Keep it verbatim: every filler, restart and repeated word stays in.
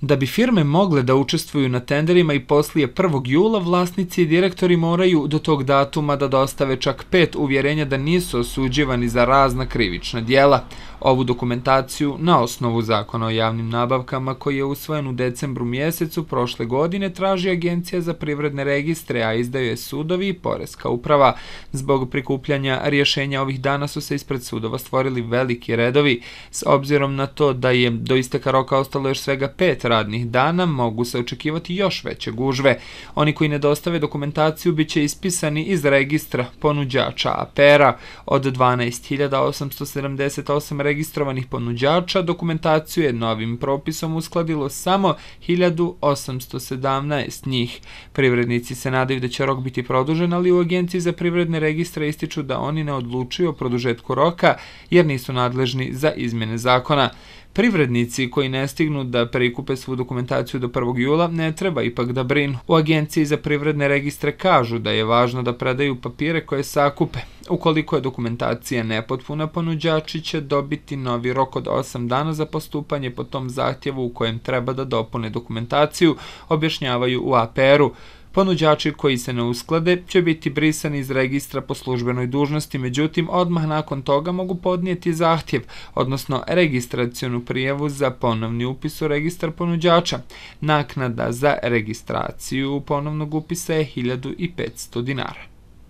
Da bi firme mogle da učestvuju na tenderima i poslije prvog jula, vlasnici i direktori moraju do tog datuma da dostave čak pet uvjerenja da nisu osuđivani za razna krivična djela. Ovu dokumentaciju na osnovu Zakona o javnim nabavkama, koji je usvojen u decembru mjesecu prošle godine, traži Agencija za privredne registre, a izdaju je sudovi i poreska uprava. Zbog prikupljanja rješenja ovih dana su se ispred sudova stvorili veliki redovi. S obzirom na to da je do isteka roka ostalo još svega pet radnih dana, mogu se očekivati još veće gužve. Oni koji ne dostave dokumentaciju bit će ispisani iz registra ponuđača A P R-a. Od dvanaest hiljada osamsto sedamdeset osam registrovanih ponuđača, dokumentaciju je novim propisom uskladilo samo hiljadu osamsto sedamnaest njih. Privrednici se nadaju da će rok biti produžen, ali u Agenciji za privredne registre ističu da oni ne odlučuju o produžetku roka jer nisu nadležni za izmjene zakona. Privrednici koji ne stignu da prikupe svu dokumentaciju do prvog jula ne treba ipak da brinu. U Agenciji za privredne registre kažu da je važno da predaju papire koje sakupe. Ukoliko je dokumentacija nepotpuna, ponuđači će dobiti novi rok od osam dana za postupanje po tom zahtjevu u kojem treba da dopune dokumentaciju, objašnjavaju u A P R-u. Ponuđači koji se ne usklade će biti brisani iz registra po službenoj dužnosti, međutim, odmah nakon toga mogu podnijeti zahtjev, odnosno registracionu prijavu za ponovni upis u registar ponuđača. Naknada za registraciju ponovnog upisa je hiljadu petsto dinara.